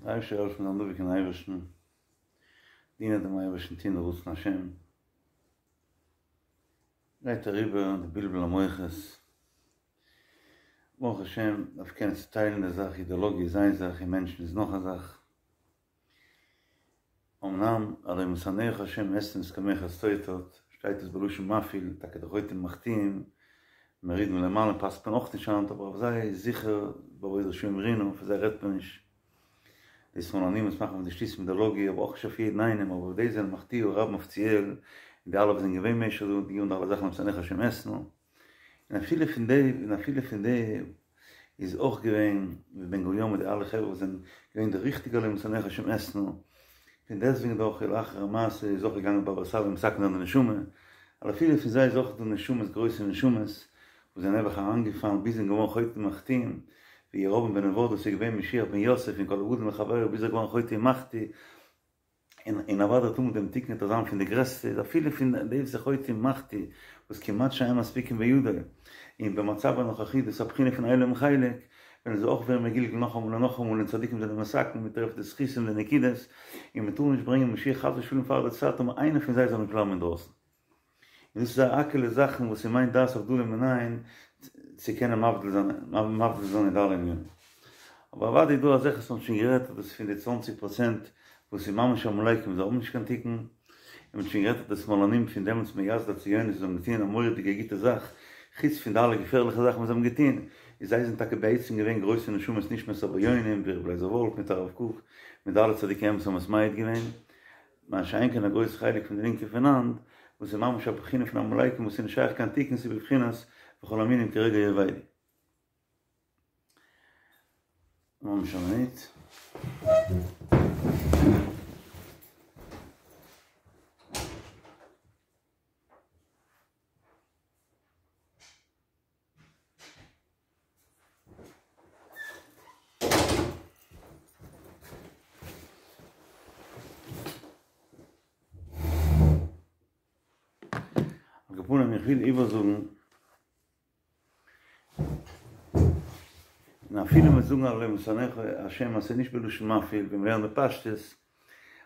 דער אייבערשטער זאל העלפן זיין דבוק אין אייבערשטן, דינען דעם אייבערשטן, טון די רצון השם, גייט אריבער די בלבול המוחות, ברוך השם דארף קענען צוטיילן די זאך, אידעלאגיע איז איין זאך און מענטשן איז נאך א זאך, אמנם הלא משנאיך השם אתנא מתקוממיך שטייט שטייט עס בלשון מפעיל, טאקע די חוטאים ומחטיאים, מורידין מלמעלה פסק'נט מען אויך נישט היינט אבער אויף זיי איז זיכער באבוד רשעים רינה פון זיי רעדט מען נישט, די שמאלנים וואס מאכן פון די שטותים אידעלאגיע אבער אויך נישט אויף יעדן איינעם אבער די זענען מחטיאי הרבים אפיציעל און די אלע וואס זענען געווען משך די יארן די אלע זאכן משנאיך השם אתנא און אפילו פון די און אפילו פון די איז אויך געווען ווי בן גוריון מיט די אלע חברה וואס זענען געווען די ריכטיגע הלא משנאיך השם אתנא, פון דעסטוועגן דאך לאחר המעשה איז אויך געגאנגען בבא סאלי מתקן זיין די נשמה, ווייל אפילו פון זיי איז אויך דא נשמות גרויסע נשמות וואס זענען נעבעך אריינגעפאלן ביז זענען געווארן חוטאים ומחטיאים, ווי ירבעם בן נבט וואס איז געווען משיח בן יוסף און כל הגדול מחברו ביז ער איז געווארן חוטא ומחטיא, און אוודאי טאר מען דעם תיקון וועט ער זיין פון די גרעסטע איז אפילו פון די וואס איז חוטא ומחטיא וואס כמעט שאין מספיקים בידו און במצב הנוכחי דאס איז א בחינה פון אין להם חלק וועלן זיי אויך ווערן מגולגל נאכאמאל און נאכאמאל און צדיקים זענען מתקן מען טרעפט די זכותים און די נקודות און מען טאר נישט ברענגען משיח חס ושלום פאר די צייט און איינער פון זיי זאל נישט בלייבן אינדרויסן. און דאס איז א האקעלע זאכן וואס איז מיין דעת הבדלה מנין צו קענען מבדיל זיין מבדיל זיין אין די אלע ענינים. אבער אוודאי איז דא אזעלכע וואס מ'האט שוין גערעדט אז דאס איז פון די צוואנציג פראצענט וואס איז ממש עמלקים זיי האבן נישט קיין תיקון, און מ'האט שוין גערעדט אז די שמאלנים פון דעמאלטס מייסדי הציונות וואס האבן געטון א מורא'דיגע גוטע זאך, חוץ פון די אלע געפערליכע זאכן וואס זיי האבן געטון, איז זיי זענען טאקע בעצם געווען גרויסע נשמות נשמת עליונים ווי רבי לייזער וואלף מיט הרב קוק מיט די אלע צדיקי אמת האבן עס מעיד געווען. מה שאין כן א גרויס חלק פון די לינקע פון היינט, וואס איז ממש א בחינה פון עמלקים וואס איז נישט שייך קיין תיקון ס'איז בבחינת וכל המינים כרגע יאבדו. ממש א מינוט. על כל פנים איך וויל איבערזאגן, און אפילו מיר זאגן הלא משנאיך השם אז ס'איז נישט בלשון מפעיל ווי מ'לערנט בפשטות,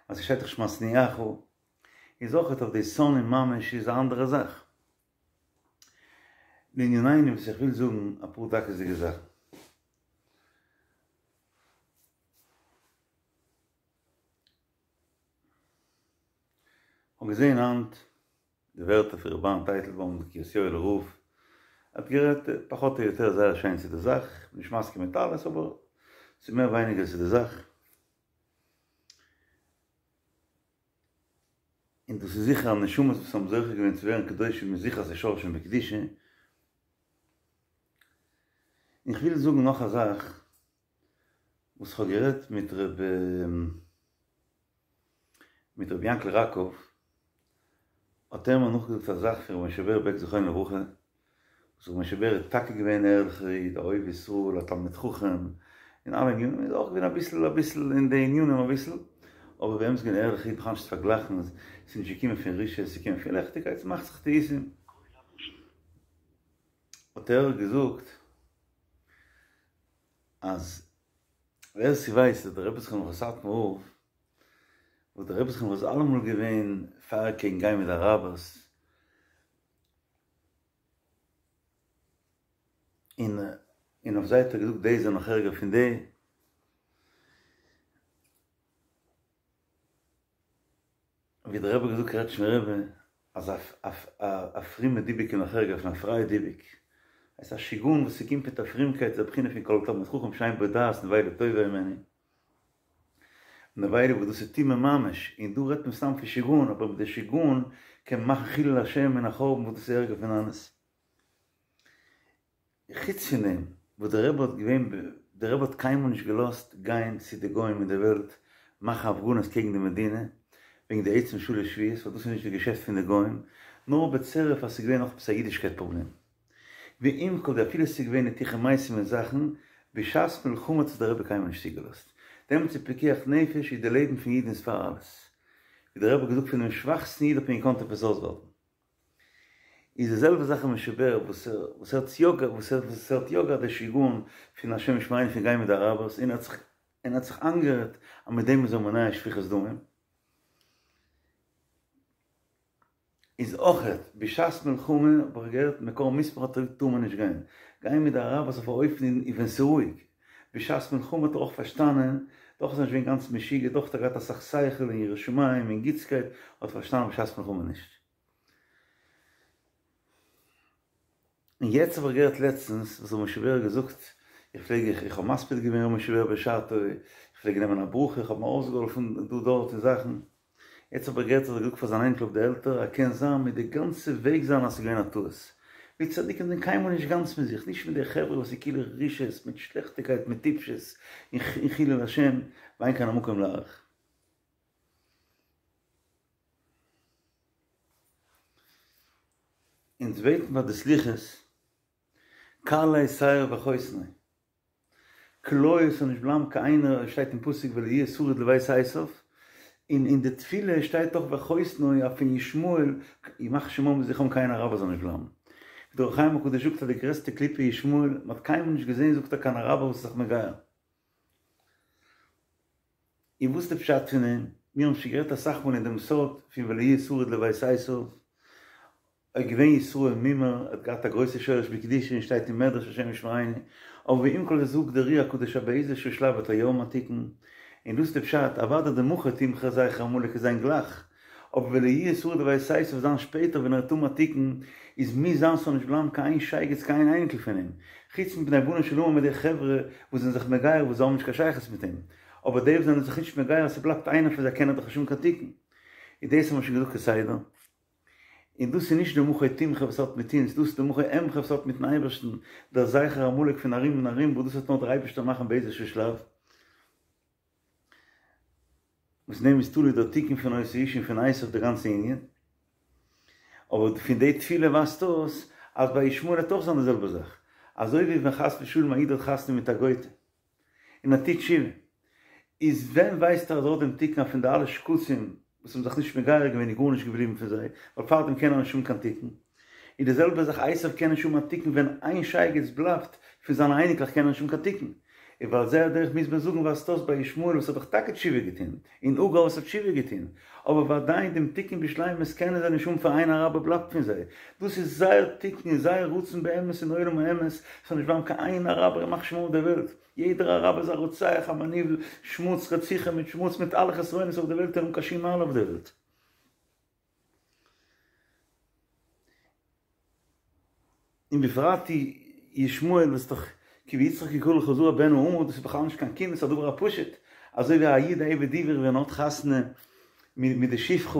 אז ס'שטייט דאך משניאך, איז אויכעט אויף די שונאים ממש איז א אנדערע זאך. לענינינו וואס איך וויל זאגן אפאר דקות'דיגע זאכן. כ'האב געזען היינט די ווערטער פון ר' אהרן טייטלבוים די קרית יואל'ער רב, ער האט גערעדט פחות או יותר זייער שיין צו די זאך, כ'בין נישט מסכים מיט אלעס אבער ס'איז מער ווייניגער צו די זאך. און דאס איז זיכער אז נשמות וואס האבן זוכה געווען צו ווערן קדושים איז זיכער אז ס'איז שורשם בקדושה. און כ'וויל זאגן נאך א זאך וואס כ'האב גערעדט מיט ר' מיט ר' יענקל ראקוב האט ער מיר נאכגעזאגט א זאך פון ר' משה בער בעק זכרונו לברכה וואס ר' משה בער איז טאקע געווען ערליכער איד, א אוהב ישראל, א תלמיד חכם, אין אלע ענינים, איז אויך געווען אביסל אביסל אין די ענינים אביסל, אבער באמת געווען ערליכע איד בכלל נישט צו פארגלייכן, ס'איז נישט געקומען פון רשעות, ס'איז געקומען פון לעכטיגקייט, ס'מאכט זיך טעותים. האט ער געזאגט אז ווער ס'ווייסט אז דער רבי זכרונו לברכה סאטמאר רב, וואס דער רבי זכרונו לברכה איז אלעמאל געווען פאר קעגן גיין מיט די אראבערס, און און אויף זיי האט ער געזאגט די זענען נאך ערגער פון די. ווי דער רבי האט געזאגט קרעטשניפער רבי אז א פרומע דיבוק איז נאך ערגער פון א פרייע דיבוק. עס איז א שיגעון וואס ס'קומט מיט א פרומקייט איז א בחינה פון כל תלמיד חכם שאין בו דעת נבילה טובה הימנו. נבילה וואס דאס איז טומאה ממש, און דא רעדט מען סתם פון שיגעון, אבער מיט די שיגעון קען מען מאכן חילול השם און א חורבן וואס דאס איז ערגער פון אלעס. חוץ פון דעם וואס דער רבי האט געווען, דער רבי האט קיינמאל נישט געלאזט גיין צו די גוים אין די וועלט מאכן הפגנות קעגן די מדינה וועגן די עצם שלש שבועות, ווייל דאס איז נישט די געשעפט פון די גוים, נאר בצירוף אז ס'איז געווען נאך עפעס א אידישקייט פראבלעם. ועם כל זה אפילו ס'איז געווען ניתוחי מתים און זאכן, בשעת מלחמה האט עס דער רבי קיינמאל נישט צוגעלאזט. דעמאלטס איז פיקוח נפש איז די לעבן פון אידן איז פאר אלעס. ווי דער רבי האט געזאגט פונעם שוואכסטן איד האט מען געקאנט עפעס אויסווארטן. איז די זעלבע זאך אין משה בער וואס ער וואס ער האט יא וואס ער וואס ער האט יא געהאט די שיגעון פון השם ישמרינו פון גיין מיט די אראבערס און ער האט זיך. און האט זיך איינגערעדט אז מיט דעם איז ער מונע שפיכות דמים. איז אויכעט בשעת מלחמה האב איך געהערט מקור מוסמך האט ער געזאגט טאר מען נישט גיין, גיין מיט די אראבערס אויף א אופן און ווען ס'רואיג, בשעת מלחמה האט ער אויך פארשטאנען, דאך איז ער נישט געווען גאנץ משוגע, דאך האט ער געהאט אסאך שכל און יראת שמים און גוטסקייט, האט פארשטאנען בשעת מלחמה נישט. און יעצט האב איך געהערט לעצטנס וואס ר' משה בער האט געזאגט, איך פלעג איך איך האב מספיד געווען ר' משה בער בשעתו, איך פלעג נעמען א ברכה, איך האב אים אויסגעהאלפן דא דארט אין זאכן, יעצט האב איך געהערט אז ער האט געזאגט פאר זיין אייניקל אויף די עלטער אז קען זיין מיט די גאנצע וועג זיין אז ס'איז געווען א טעות. ווי צדיקים זענען קיינמאל נישט גאנץ מיט זיך, נישט מיט די חברה וואס איז כאילו רשעות מיט שלעכטיגקייט מיט טיפשות און חילול השם ואין כאן המקום להאריך. אונז בעטן ביי די סליחות, כלה שער וחותנו, כליה ס'זאל נישט בלייבן קיין איינער, עס שטייט אין פסוק ולא יהיה שריד לבית עשיו, און אין די תפילה שטייט דאך וחותנו אז פון ישמעאל, ימח שמם וזכרם קיין אראבער זאל נישט בלייבן. ווי דער אור החיים הקדוש זאגט אז די גרעסטע קליפה ישמעאל, מען האט קיינמאל נישט געזען זאגט ער קיין אראבער וואס איז זיך מגייר. און וואס איז די פשט פון דעם? מיר האבן שוין גערעדט אסאך מאל אין דעם סוד פון ולא יהיה שריד לבית עשיו, איז געווען ישראל מומר, ער האט געהאט א גרויסע שורש בקדושה און שטייט אין מדרש השם ישמרינו, אבער ועם כל זה זאגט דער אר"י הקדוש אז באיזה שלב האט ער יא א תיקון, און דאס איז די פשט, אוודאי די מחה תמחה זכר עמלק איז זיין גלייך, אבער ולא יהיה שריד לבית עשיו זיין שפעטער ווען ער וועט האבן א תיקון, איז מוז זיין ס'זאל נישט בלייבן קיין איין שייגעץ קיין איין אייניקל פון אים, חוץ מבני בנו של המן מיט די חברה וואס זענען זיך מגייר וואס זיי האבן נישט קיין שייכות מיט אים, אבער די וואס זענען זיך נישט מגייר אז ס'בלייבט איינער פון זיי קען ער דאך נישט האבן קיין תיקון. און דאס האבן מיר שוין געזאגט כסדר. און דאס איז נישט די מחה תמחה וואס האט מיט אונז, דאס איז די מחה אמחה וואס האט מיטן אייבערשטן, דער זכר עמלק פון ארום און ארום וואס דאס וועט נאר דער אייבערשטער מאכן באיזשהו שלב. וואס אין דעם איז תלוי דער תיקון פון אותו האיש און פון עשיו די גאנצע ענין. אבער פון די תפילה ווייזט אויס אז ביי ישמעאל וועט אויך זיין די זעלבע זאך. אזוי ווי ווען חס ושלום א איד האט חתונה מיט א גוי'טע און ער טוט תשובה, איז ווען ווייסט ער אז ער האט דעם תיקון אז פון די אלע שקצים וואס האבן זיך נישט מגייר געווען איז גארנישט געבליבן פון זיי, ווייל פארדעם קען ער נישט האבן קיין תיקון. און די זעלבע זאך עשיו קען נישט האבן א תיקון ווען איין שייגעץ בלייבט פון זיינע אייניקלעך קען ער נישט האבן קיין תיקון. און ועל זה הדרך מוז מען זאגן ווייזט אויס ביי ישמעאל וואס האט דאך טאקע תשובה געטון, און הגר וואס האט תשובה געטון, אבער ועדיין דעם תיקון בשלימות קענען זיי נישט האבן פאר איין אראבער בלייבט פון זיי. דאס איז זייער תיקון און זייער רצון באמת אין עולם האמת, ס'זאל נישט בלייבן קיין איין אראבער ימח שמו אויף דער וועלט. יעדער אראבער איז א רוצח, א מניוול, שמוץ, רציחה מיט שמוץ מיט אלע חסרונות אויף דער וועלט און אן קיין שום מעלה אויף דער וועלט. און בפרט ישמעאל וואס דאך כי ביצחק יקרא לך זרע בן האמה דאס איז בכלל נישט קיין קינד עס איז א דבר הפשוט אזוי ווי א איד א עבד עברי ווען ער האט חתונה מיט די שפחה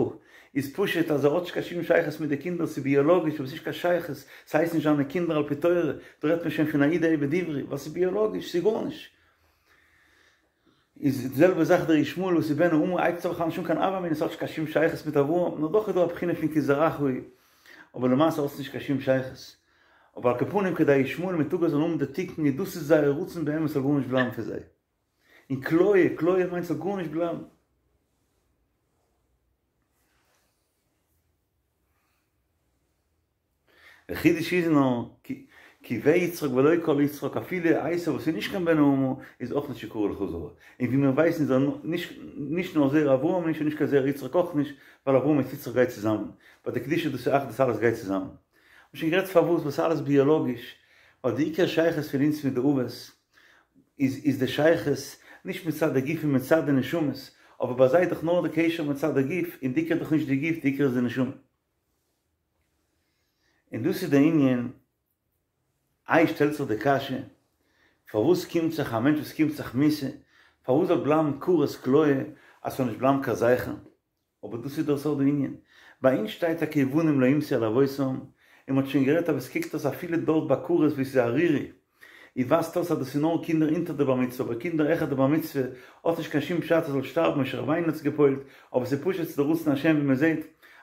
איז פשוט אז ער האט נישט קיין שום שייכות מיט די קינדער ס'איז ביאלאגיש אבער ס'איז נישט קיין שייכות ס'הייסט נישט זיינע קינדער על פי תורה דא רעדט מען שוין פון א איד א עבד עברי ווייל ס'איז ביאלאגיש ס'איז גארנישט. איז די זעלבע זאך דער ישמעאל וואס איז בן האמה הייבט זיך בכלל נישט אן קיין הוה אמינא עס האט נישט קיין שום שייכות מיט אברהם נאר דאך איז דא א בחינה פון כי זרעך הוא אבער למעשה האט עס נישט קיין שום שייכות אבער על כל פנים כדי ישמעאל מיט הגר זאלן האבן די תיקון איז דאס איז זייער רצון באמת ס'זאל גארנישט בלייבן פון זיי און כליה כליה מיינט ס'זאל גארנישט בלייבן. דער חידוש איז נאר, כי ויצחק ולא כל יצחק, אפילו עשו וואס איז נישט קיין בן האמה איז אויך נישט יקרא לך זרע. און ווי מיר ווייסן איז ער נישט נאר זרע אברהם נישט און נישט קיין זרע יצחק אויך נישט, ווייל אברהם מיט יצחק גייט צוזאמען. ביי די קדושה דאס איז אחדות אלעס גייט צוזאמען. מ'האט שוין גערעדט פארוואס ווייל ס'איז אלעס ביאלאגיש, ווייל די עיקר שייכות פון אונז מיט די אבות איז איז די שייכות נישט מצד די גוף און מצד די נשמות, אבער ביי זיי איז דאך נאר די קשר מצד די גוף, און די עיקר איז דאך נישט די גוף די עיקר איז די נשמה. און דאס איז די ענין, איי שטעלט זיך די קשיא, פארוואס קומט זיך א מענטש וואס קומט זיך מיתה, פארוואס זאל בלייבן כרת כליה אז ס'זאל נישט בלייבן קיין זכר, אבער דאס איז דער סוד הענין, ביי אונז שטייט טאקע ובנים לא יומתו על אבותם, און מ'האט שוין גערעדט אז עס קוקט אויס אפילו דארט ביי כרת וואו ס'איז ערירי, און ווייזט אויס אז דאס איז נאר קינדער אונטער די בר מצוה, אבער קינדער העכער די בר מצוה האט נישט קיין שום פשט ער זאל שטארבן, משה רבינו האט עס געפועלט, אבער ס'איז פשוט ס'איז די רצון השם ווי מ'זעט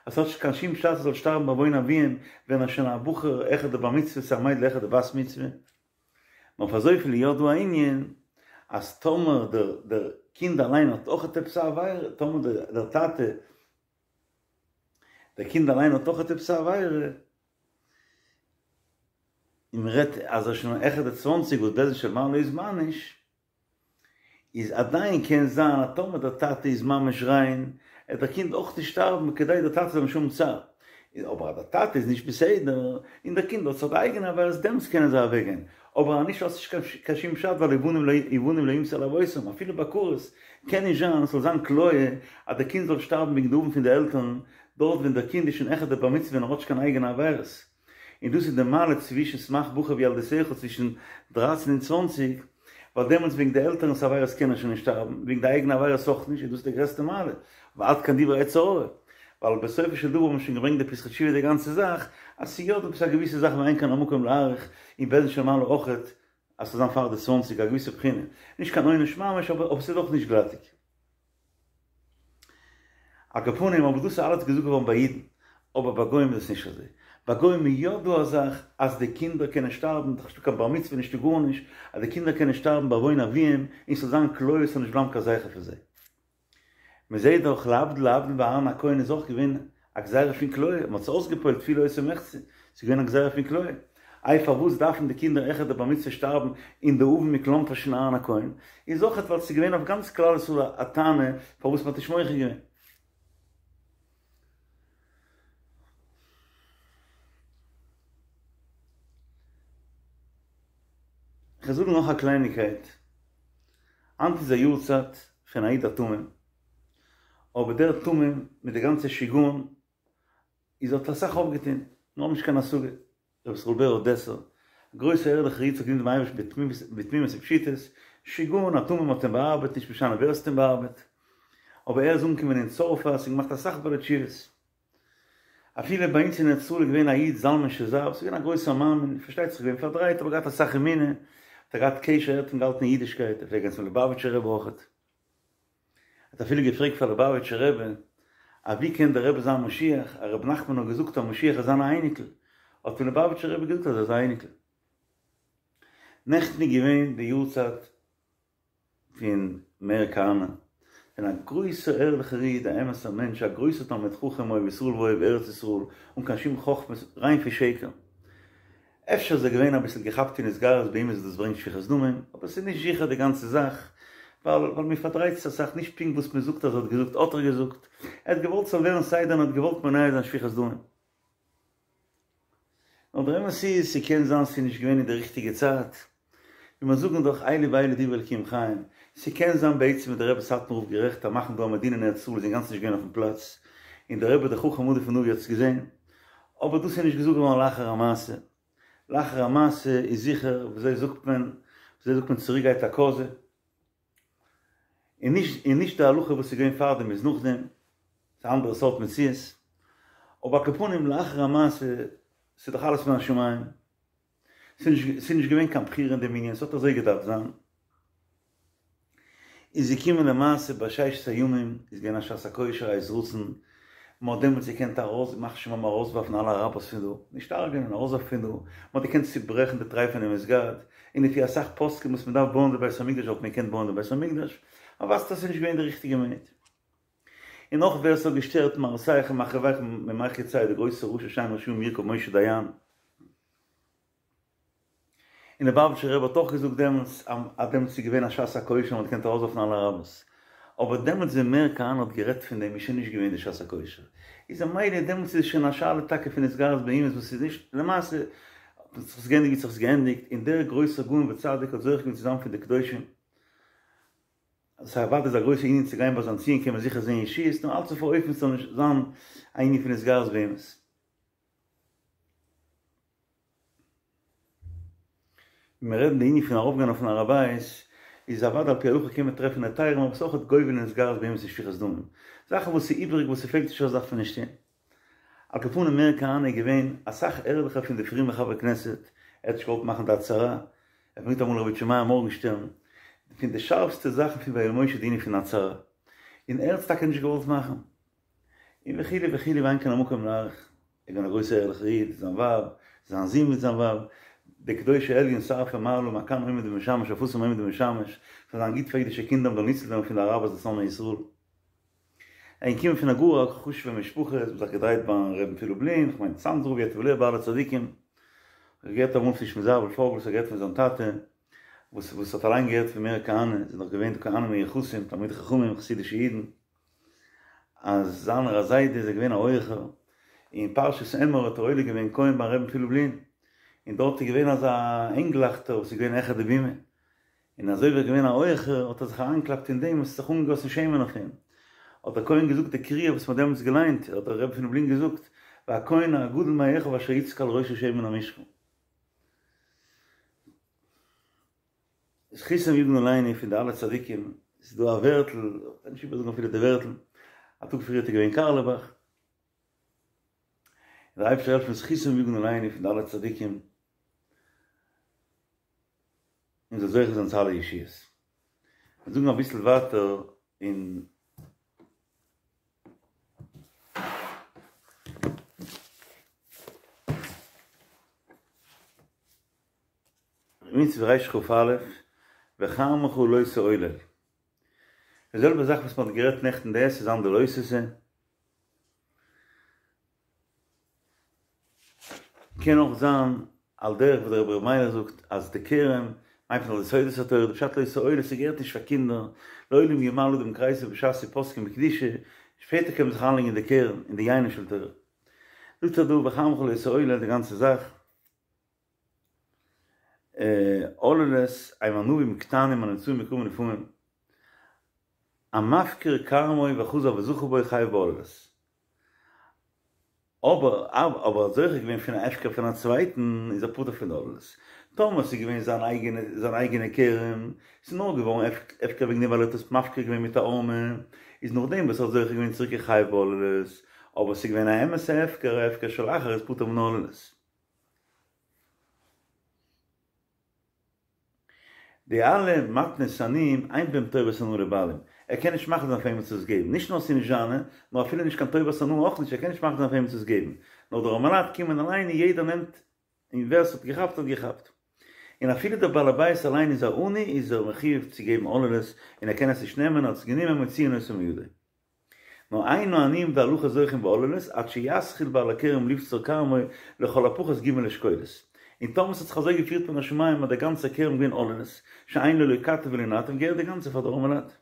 אז ס'האט נישט קיין שום פשט ער זאל שטארבן בעוון אביהם ווען ער איז שוין א בחור העכער די בר מצוה צו א מיידל העכער די בת מצוה. נאר אויף אזויפיל איז יא דא א ענין אז טאמער דער דער קינד אליין האט אויכעט עפעס א עבירה, טאמער דער דער טאטע דער קינד אליין האט אויכעט עפעס א עבירה, און מען רעדט אז ער איז שוין העכער די צוואנציג וואס בית דין של מעלה איז מעניש. איז עדיין קען זיין אז טאמער דער טאטע איז ממש ריין, עט דער קינד אויך נישט שטארבן כדי דער טאטע זאל נישט האבן צער. אבער אז דער טאטע איז נישט בסדר, און דער קינד האט זיך די אייגענע עבירות דעמאלטס קענען זיי אוועקגיין. אבער אז נישט האט עס נישט קיין שום פשט ווייל ובנים לא יומתו על אבותם, אפילו ביי כרת קען נישט זיין ס'זאל זיין כליה אז דער קינד זאל שטארבן וועגן די עוון פון די עלטערן, דארט ווען דער קינד איז שוין העכער די בר מצוה און ער האט נישט קיין אייגענע עבירות. און דאס איז די מעלה צווישן שמח בחור בילדותך צווישן דרייצן און צוואנציג, ווייל דעמאלטס וועגן די עלטערנס עבירות קען ער שוין נישט שטארבן, וועגן די אייגענע עבירות אויך נישט, און דאס איז די גרעסטע מעלה, ועד כאן דברי יצר הרע, ווייל בסופו של דבר האט מען שוין געברענגט די פתחי תשובה די גאנצע זאך, אז ס'איז יא דא עפעס א געוויסע זאך ואין כאן המקום להאריך, אין בית דין של מעלה אויכעט, אז ס'זאל זיין פאר די צוואנציג א געוויסע בחינה, נישט קיין עונש ממש אבער ס'איז אויך נישט גלאטיג. על כל פנים, אבער דאס איז אלעס געזאגט געווארן ביי אידן, אבער ביי גוים איז עס נישט אזוי. ביי גוים איז יא דא א זאך אז די קינדער קענען שטארבן, דאך נישטא קיין בר מצוה נישטא גארנישט, אז די קינדער קענען שטארבן בעוון אביהם, און ס'זאל זיין כליה ס'זאל נישט בלייבן קיין זכר פון זיי. מ'זעט דאך להבדיל להבדיל ביי אהרן הכהן איז אויך געווען א גזירה פון כליה, מ'האט עס אויסגעפועלט תפילה עושה מחצה, ס'איז געווען א גזירה פון כליה. איי פארוואס דארפן די קינדער העכער די בר מצוה שטארבן און די עוון מכלומפערשט פון אהרן הכהן? איז אויכעט ווייל ס'איז געווען אויף גאנץ כלל ישראל א טענה פארוואס מ'האט נישט מוחה געווען. כ'וועל זאגן נאך א קלייניגקייט, היינט איז א יארצייט פון א איד א תמים, אבער דער תמים מיט די גאנצע שיגעון איז האט אסאך אויפגעטון, מיר האבן נישט קיין השגה, רבי ישראל בער אדעסער, א גרויסער ערליכער איד, האט געדינט דעם אייבערשטן בתמימות ופשיטות, שיגעון א תמים האט אים באארבעט, נישט משנה ווער עס האט אים באארבעט, אבער ער איז אנגעקומען אין צרפת און געמאכט אסאך בעלי תשובות. אפילו ביי אונז אין ארץ ישראל איז געווען א איד זלמן שזר, ס'איז געווען א גרויסער מאמין, פארשטייט זיך געווען פארדרייט אבער געהאט אסאך אמונה, האט ער געהאט קשר, ער האט אנגעהאלטן אין אידישקייט, ער פלעגט גיין צום ליובאוויטשער רבי אויכעט. האט אפילו געפרעגט פאר ליובאוויטשער רבי אז ווי קען דער רבי זיין משיח, אז רבי נחמן האט געזאגט אז משיח איז זיין א אייניקל, האט אים ליובאוויטשער רבי געזאגט אז ער איז א אייניקל. נעכטן איז געווען די יארצייט פון מאיר כהנא, פון א גרויסער ערליכער איד, א אמת'ער מענטש, א גרויסער תלמיד חכם אוהב ישראל ואוהב ארץ ישראל, אן קיין שום חכמות, ריין פון שקר. אפשר איז ער געווען אביסל געכאפט אין התגרות באומות וואס דאס ברענגט שפיכות דמים, אבער ס'איז נישט זיכער די גאנצע זאך, ווייל ווייל מען פארדרייט עס אסאך, נישט פונקט וואס מען זאגט אז ער האט געזאגט האט ער געזאגט, ער האט געוואלט ס'זאל ווערן סדר און האט געוואלט מונע זיין שפיכות דמים. נאר דער אמת איז, ס'קען זיין ס'איז נישט געווען אין די ריכטיגע צייט, ווי מיר זאגן דאך אלו ואלו דברי אלקים חיים, ס'קען זיין בעצם איז דער רבי סאטמאר רב גערעכט אז מאכן דא א מדינה אין ארץ ישראל איז אינגאנצן נישט געווען אויפן פלאץ, און דער רבי דער חכם עדיף מנביא האט עס געזען, אבער דאס איז נישט געזאגט געווארן לאחר המעשה, לאחר המעשה איז זיכער, וויאזוי זאגט מען, וויאזוי זאגט מען צוריק גייט א קאזע, און נישט און נישט די הלכה וואס איז געווען פארדעם איז נאכדעם, ס'איז א אנדערע סארט מציאות, אבער על כל פנים לאחר המעשה, ס'איז דאך אלעס מן השמים, ס'איז נישט געווען קיין בחירה אין דעם ענין, ס'האט אזוי געדארפט זיין. איז געקומען למעשה ביי ששת הימים, איז געווען א שעת הכושר א עת רצון, מען האט דעמאלטס געקענט ארויס, ימח שמם ארויסווארפן אלע אראבערס פון דא, נישט הרג'נען, ארויסווארפן פון דא, מען האט געקענט צוברעכן די טרייפענע מסגד, און לפי אסאך פוסקים וואס מען דארף בויען די בית המקדש וואלט מען געקענט בויען די בית המקדש, אבער ווייזט אויס ס'איז נישט געווען די ריכטיגע מינוט. און נאך ווער ס'האט געשטערט מהרסיך ומחריביך ממך יצא די גרויסע רשע שם רשעים ירקב משה דיין. און ליובאוויטשער רבי האט אויך געזאגט דעמאלטס אז דעמאלטס איז געווען א שעת הכושר און מ'האט געקענט ארויסווארפן אלע אראבערס. אבער דעמאלטס ווען מאיר כהנא האט גערעדט פון דעם איז שוין נישט געווען די שעת הכושר. איז ממילא דעמאלטס איז שוין א שאלה טאקע פון התגרות באומות וואס איז נישט למעשה האט זיך עס געענדיגט ווי ס'האט זיך געענדיגט און דער גרויסער גאון וצדיק האט זוכה געווען צו זיין פון די קדושים. סא אוודאי איז א גרויסע ענין צו גיין ביי זיין ציון קען מען זיכער זעהן ישועות נאר אלץ אויף א אופן ס'זאל נישט זיין א ענין פון התגרות באומות. ווען מיר רעדן די ענין פון ארויפגיין אויפן הר הבית, איז אוודאי על פי הלכה קען מען טרעפן היתרים אבער ס'איז אויך גובל אין התגרות באומות און שפיכות דמים. זאכן וואס איז איבעריג וואס ס'פעלט נישט אויס דארף מען נישט טון. על כל פנים מאיר כהנא איז געווען אסאך ערליכער פון די פרומע חברי כנסת, ער האט נישט געוואלט מאכן די הצהרה, ער ברענגט אמאל רבי איטשע מאיר מארגנשטערן, פון די שארפסטע זאכן פון ויואל משה די ענין פון הצהרה, און ער האט עס טאקע נישט געוואלט מאכן, און וכו' וכו' ואין כאן המקום להאריך, ער איז געווען א גרויסער ערליכער איד, זיין ווייב, זיין זון מיט זיין ווייב, די קדושי עליון שרפי מעלה מה כאן עומד ומשמש אויף וואס עומד ומשמש, זאל זיין גוט פאר אידישע קינדער מ'זאל ניצול ווערן פון די אראבערס די שונאי ישראל. ער איז געקומען פון א גאר א חשוב'ע משפחה, עס האט זיך געדרייט ביים רבי'ן פון לובלין, כ'מיין צאנז רב יטב לב ביי אלע צדיקים, כ'האב געהערט אמאל פון שמעון זאוול פארגל וואס האט גערעדט פון זיין טאטע, וואס וואס האט אליין געהערט פון מאיר כהנא, ס'איז נאך געווען די כהנים מיוחסים, תלמידי חכמים, חסידישע אידן, אז זיינער א זיידע איז ער געווען א הויעכער, אין פרשת אמור האט ער עולה געווען כהן ביים רבי'ן פון לובלין, און דארט איז געווען אזא הענגלייכטער וואס איז געווען העכער די בימה, און אזוי ווי ער איז געווען א הויעכער האט ער זיך אריינגעקלאפט אין דעם און ס'האט זיך אנגעגאסן שמן אויף אים. האט דער כהן געזאגט די קריאה וואס מ'האט דעמאלטס געליינט, האט דער רבי פון לובלין געזאגט, והכהן הגדול מאחיו אשר יצקה על ראשו שמן המשחה. זכותם יגן עלינו פון די אלע צדיקים, ס'איז דא א ווערטל, איך קען נישט איבערזאגן אפילו די ווערטל, א טאג פריער איז געווען קארלעבאך, דער אייבערשטער העלפן זכותם יגן עלינו פון די אלע צדיקים, און זאל זוכה זיין צו אלע ישועות. מיר זאגן אביסל ווייטער אין מצוה רכ"א, וכרמך לא תעולל. די זעלבע זאך וואס מען האט גערעדט נעכטן די עשה זיין די לא תעשה. קען אויך זיין על דרך וואס דער רבי ר' מיילעך זאגט אז די כרם מיינט מען די סודות התורה, די פשט לא תעולל ס'געהערט נישט פאר קינדער, לעולם ימלא אדם כריסו בשעת שפוסקין בקדושה, שפעטער קען מען זיך אריינלייגן אין די כרם, אין די יינה של תורה. זאגט ער דא וכרמך לא תעולל די גאנצע זאך. עוללות הם ענבים קטנים הנמצאים בכרמים לפעמים, המפקיר כרמו וחזר וזכה בו חייב בעוללות. אבער אבער האט זוכה געווען פון א הפקר פון א צווייטן איז ער פטור פון די עוללות. טאמער ס'איז געווען זיין אייגענע זיין אייגענע כרם, ס'איז נאר געווארן הפקר וועגן דעם ווייל ער האט עס מפקיר געווען מיט א הערמה, איז נאכדעם וואס ער האט זוכה געווען צוריק איז חייב בעוללות, אבער ס'איז געווען א אמת'ע הפקר, א הפקר של אחר איז פטור מן העוללות. די אלע מתנות עניים אין בהם טובת הנאה לבעלים, ער קען נישט מחליט זיין פאר וועמען צו עס געבן, נישט נאר ס'איז נישט זיינע, נאר אפילו נישט קיין טובת הנאה אויך נישט, ער קען נישט מחליט זיין פאר וועמען צו עס געבן, נאר די ארעמעלייט קומען אליין און יעדער נעמט, און ווער ס'האט געכאפט האט געכאפט. און אפילו דער בעל הבית אליין איז א עני איז ער מחויב צו געבן עוללות און ער קען עס נישט נעמען, ער האט עס גענומען מוציאין אותו מידו. נאר אין העניים דהלכה זוכים בעוללות עד שיתחיל בעל הכרם לבצור כרמו לכל הפחות ג' אשכולות. און טאמער ס'האט זיך אזוי געפירט מן השמים אז דער גאנצער כרם געווען עוללות, שאין לו לא כתף ולא נטף געהערט די גאנצע פאר די ארעמעלייט.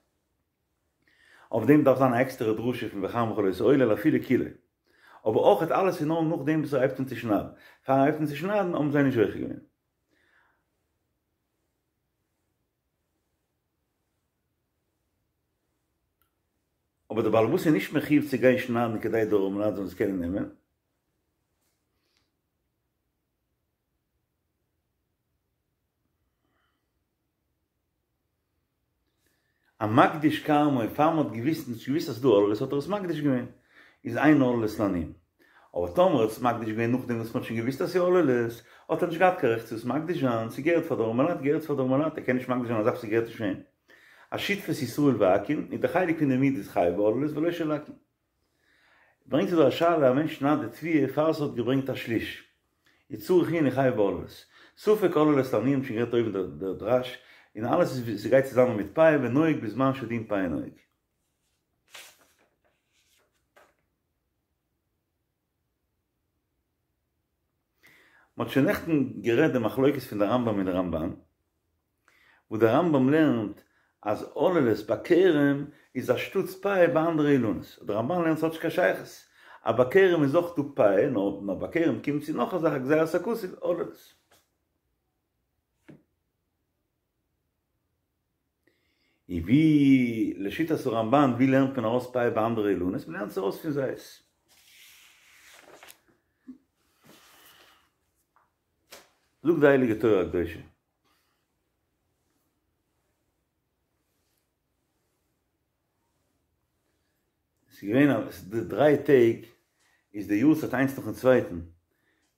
אויף דעם דארף זיין א עקסטערע דרשה פון וכרמך לא תעולל אפילו כולו. אבער אויכעט אלעס איז נאר נאכדעם וואס ער הייבט אן צו שניידן. פאר ער הייבט אן צו שניידן האבן זיי נישט זוכה געווען. אבער דער בעל הבית איז נישט מחיוב צו גיין שניידן כדי די ארעמעלייט זאלן עס קענען נעמען. המקדיש כרמו, פאר מען האט געוויסט, נישט געוויסט אז ס'איז דא עוללות האט ער עס מקדיש געווען, איז אין עוללות לעניים. אבער טאמער ער האט עס מקדיש געווען נאכדעם וואס מען האט שוין געוויסט אז ס'איז עוללות, האט ער נישט געהאט קיין רעכט צו עס מקדיש זיין, ס'געהערט פאר די ארעמעלייט געהערט פאר די ארעמעלייט, ער קען נישט מקדיש זיין א זאך וואס ס'געהערט נישט פאר אים. א שותפות ישראל ועכו"ם, איז די חלק פון די מיעוט איז חייב בעוללות ולא של עכו"ם. ברענגט זיך דא א שאלה, א מענטש שניידט די תבואה פאר ס'האט געברענגט א שליש, איז צריך עיון חייב בעוללות. ספק עוללות לעניים שוין גערעדט אויבן דער דרש, און אלעס איז ס'גייט צוזאמען מיט פאה ונוהג בזמן שדין פאה נוהג. מ'האט שוין נעכטן גערעדט די מחלוקת פון די רמב"ם מיט די רמב"ן, וואו די רמב"ם לערנט אז עוללות ביי כרם איז אנשטאטס פאה ביי אנדערע אילנות, די רמב"ן לערנט ס'האט נישט קיין שייכות, אז ביי כרם איז אויך דא פאה, נאר ביי כרם קומט צו נאך א זאך א גזירת הכתוב, עוללות. און ווי לשיטת הרמב"ן ווי לערנט מען ארויס פאה ביי אנדערע אילנות? מ'לערנט עס ארויס פון זית. זאגט די הייליגע תורה הקדושה. ס'איז געווען אז די דריי טעג איז די יארצייט איינס נאכן צווייטן,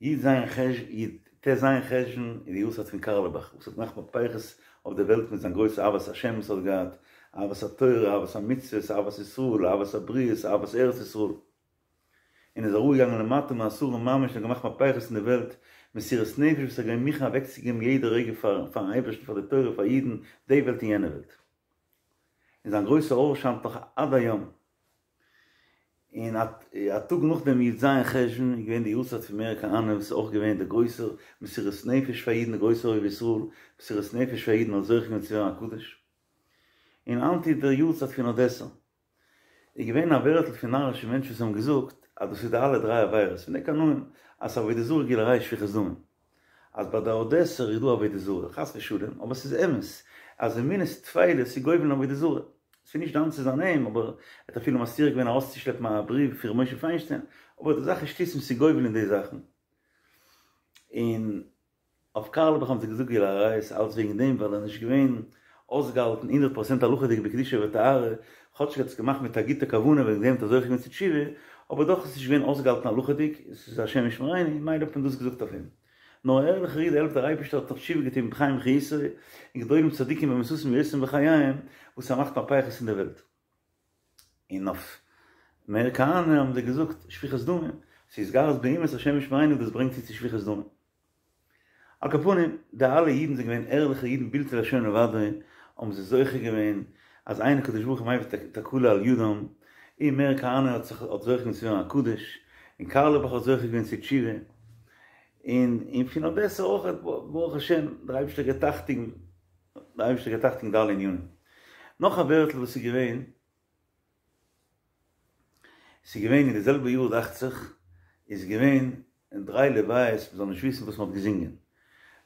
י"ז חש י"ט"ז חשוון איז די יארצייט פון קארלעבאך וואס האט געמאכט מהפכות אויף די וועלט מיט זיין גרויסע אהבת השם וואס ער האט געהאט, אהבת התורה, אהבת המצוות, אהבת ישראל, אהבת הבריות, אהבת ארץ ישראל. און איז אראפגעגאנגען למטה מעשרה ממש און געמאכט מהפכות אין די וועלט, מסירות נפש וואס ער איז געווען מוכן אוועקצוגעבן יעדע רגע פארן אייבערשטן פאר די תורה פאר אידן, די וועלט און יענע וועלט. און זיין גרויסע אור שיינט נאך עד היום. און א טאג נאך דעם י ז חשוון איז געווען די יארצייט פון מאיר כהנא וואס איז אויך געווען דער גרויסער מסירות נפש פאר אידן דער גרויסער אוהב ישראל, מסירות נפש פאר אידן האט זוכה געווען צו ווערן א קדוש. און היינט איז דער יארצייט פון אדעסער. איז געווען א ווערטל פון נארישע מענטשן וואס האבן געזאגט אז דאס איז די אלע דריי עבירות פון די קנאים אז עבודה זרה גילוי עריות שפיכות דמים אז ביי די אדעסער איז דא עבודה זרה חס ושלום אבער ס'איז אמת אז אמונות טפלות איז גובל אין עבודה זרה ס'איז נישט דן צו זיין אים אבער ער האט אפילו מצליח געווען ארויסצושלעפן א בריוו פון ר' משה פיינשטיין אבער די זאך איז שטותים ס'איז גובל אין די זאכן און אויף קארלעבאך האבן זיי געזאגט גילוי עריות אלץ וועגן דעם ווייל ער איז נישט געווען אויסגעהאלטן הונדערט פראצענט הלכה'דיג בקדושה וטהרה, כאטשיג ער האט עס געמאכט מיט א גוטע כוונה וועגן דעם האט ער זוכה געווען צו תשובה, אבער דאך איז עס נישט געווען אויסגעהאלטן הלכה'דיג, עס איז השם ישמרינו, מילא האט מען דאס געזאגט אויף אים. נאר א ערליכער איד העלפט דער אייבערשטער האט נאך תשובה געטון בחיים חיותו, און גדולים צדיקים במיתתם יותר מבחייהם, וואס ער מאכט מהפכות אין די וועלט. און אויף מאיר כהנא האבן זיי געזאגט שפיכות דמים, ס'איז התגרות באומות השם ישמרינו דאס ברענגט צו צו שפיכות דמים. על כל פנים, די אלע אידן זענען געווען ערליכע אידן בלתי לה' לבדו, האבן זיי זוכה געווען אז אין הקדוש ברוך הוא מביא תקלה על ידם, און מאיר כהנא האט זיך האט זוכה געווען צו ווערן א קדוש, און קארלעבאך האט זוכה געווען צו תשובה, און און פון אדעסע אויך ברוך השם, דער אייבערשטער געבט אכטונג, דער אייבערשטער געבט אכטונג די אלע ענינים. נאך א ווערטל וואס איז געווען, ס'איז געווען אין די זעלבע יאר דאכט זיך, איז געווען דריי לוויות מ'זאל נישט וויסן וואס מ'האט געזינגען.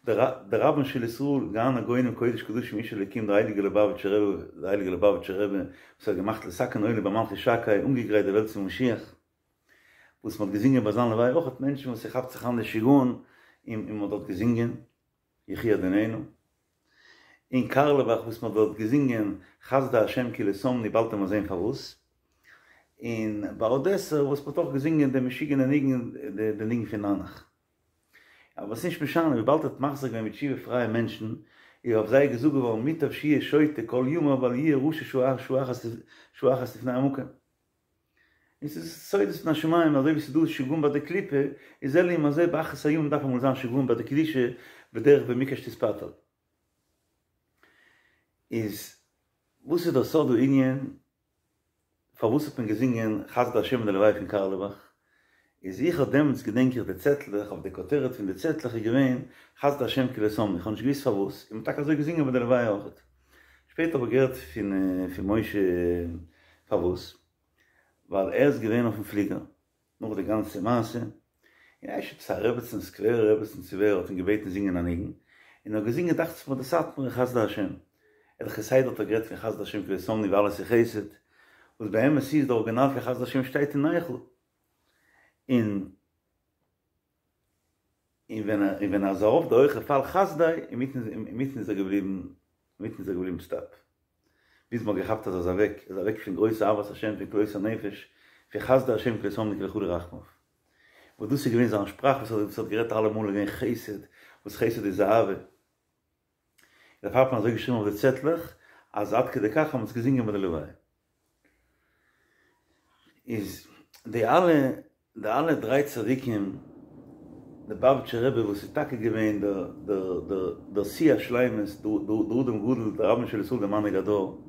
דער רבן של ישראל, גאון הגאונים קודש קדשים איש אלוקים דער הייליגער ליובאוויטשער רבי, דער הייליגער ליובאוויטשער רבי וואס האט געמאכט לתקן עולם במלכות שקי, אנגעגרייט די וועלט צום משיח, וואס מ'האט געזינגען ביי זיין לוויה אויך מענטשן וואס ס'כאפט זיך אן די שיגעון און מ'האט דארט געזינגען. יחי אדונינו. אין קארלעבאך וואס מ'האט דארט געזינגען חסדי השם כי לא תמנו באלד וועט מען זעהן פארוואס. און ביי אדעסער וואס מ'האט אויך געזינגען די משוגענע ניגון די ניגון פון ננח. אבער ס'נישט משנה וויבאלד ער האט מחזיר געווען בתשובה פרייע מענטשן איז אויף זיי געזאגט געווארן מוטב שיהיה שוטה כל ימיו ואל יהיה רשע שעה אחת לפני המקום. און ס'איז סודות מן השמים, אזוי ווי ס'איז דא שגעון ביי די קליפה, איז זה לעומת זה באחרית הימים דארף אמאל זיין שגעון ביי די קדושה בדרך במקש תתפתל. איז וואס איז דער סוד הענין פארוואס האט מען געזינגען חסדי השם אין די לוויה פון קארלעבאך? איז איך האב דעמאלטס געדענק איך די צעטלעך, אויף די כותרת פון די צעטלעך איז געווען חסדי השם כי לא תמנו, איך האב נישט געוואוסט פארוואס, און מ'האט טאקע אזוי געזינגען ביי די לוויה אויכעט. שפעטער האב איך געהערט פון פון משה פארוואס, ווייל ער איז געווען אויפן פליגער נאך די גאנצע מעשה, און אפשר עפעס א רעבעצן, סקווערע רעבעצן צו ווער, האט אים געבעטן זינגען א ניגון, און ער האט געזינגען דאכט זיך מיר די סאטמארע חסדי השם, ער האט כסדר האט ער גערעדט פון חסדי השם כי לא תמנו ווי אלעס איז חסד, וואס באמת איז די ארגינאל פון חסדי השם שטייט אין איכה, און. און ווען ער און ווען ער איז ארויף די הויכע פאל חסדי, אינמיטן אינמיטן איז ער געבליבן אינמיטן איז ער געבליבן סטאפ. ביז מ'האט געכאפט אז ער איז אוועק, ער איז אוועק פון גרויס אהבת השם פון כלות הנפש, פון חסדי השם כי לא תמנו כי לכו רחמיו. וואס דאס איז געווען זיין שפראך וואס ער האט וואס ער האט גערעדט אלעמאל איז געווען חסד, וואס חסד איז אהבה. דערפאר האט מען אזוי געשריבן אויף די צעטלעך, אז עד כדי כך האט מען עס געזינגען ביי די לוויה. איז די אלע די אלע דריי צדיקים, די ליובאוויטשער רבי וואס איז טאקע געווען דער דער דער דער שיא השלימות, דער אדם גדול, דער רבן של ישראל דער מנהיג הדור,